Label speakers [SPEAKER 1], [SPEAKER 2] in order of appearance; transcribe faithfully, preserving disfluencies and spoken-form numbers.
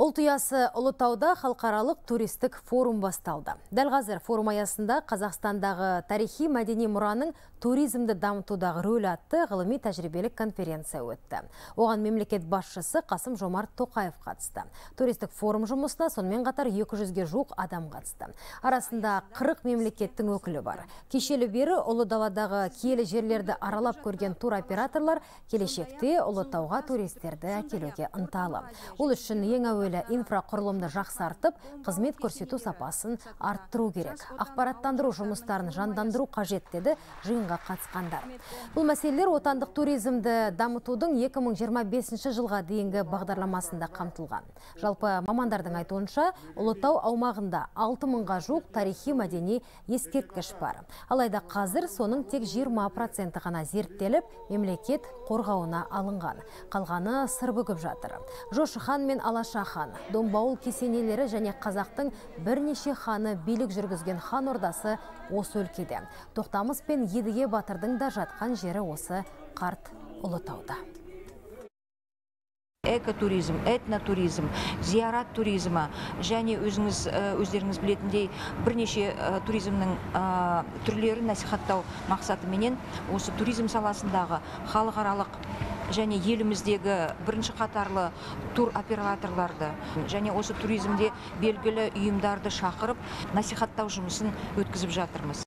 [SPEAKER 1] Ұлтұясы Ұлытауда халықаралық туристік форум басталды. Дәл қазір форум аясында Қазақстандағы тарихи мәдени мұраның туризмді дамытудағы рөлі атты ғылыми тәжірибелік конференция өтті. Оған мемлекет басшысы Қасым Жомарт Тоқаев қатысты. Туристік форум жұмысына сонымен қатар екі жүзге жуық адам қатысты. Арасында қырық мемлекеттің өкілі бар. Кешелі бері Ұлы даладағы киелі жерлерді аралап көрген туроператорлар келешекте Ұлытауға туристерді әкелуге ынталы. Ол үшін ең әуелі инфрақұрылымды жақсартып, қызмет көрсету сапасын арттыру керек. Ақпараттандыру жұмыстарын жандандыру қажет деді жиынға қатысқандар. Бұл мәселелер отандық туризмді дамытудың екі мың жиырма бесінші жылға дейінгі бағдарламасында қамтылған. Жалпы мамандардың айтуынша, Ұлытау аумағында алты мыңға жуық тарихи мәдени ескерткіш бар. Алайда қазір соның тек жиырма проценті ғана зерттеліп, мемлекет қорғауына алынған. Қалғаны сыр бүгіп жатыр. Жошы хан мен Алаша хан, Домбауыл кесенелері және қазақтың бірнеше ханы билік жүргізген хан ордасы осы өлкеде. Тоқтамыс пен Едіге батырдың да жатқан жері осы қарт Ұлытауда.
[SPEAKER 2] Экотуризм, этнотуризм, зиярат туризмі және өзіңіз өздеріңіз білетіндей бірнеше туризмнің түрлерін насихаттау мақсатыменен осы туризм саласындағы халықаралық және еліміздегі бірінші қатарлы тур операторларды және осы туризмде белгілі ұйымдарды шақырып насихаттау жұмысын өткізіп жатырмыз.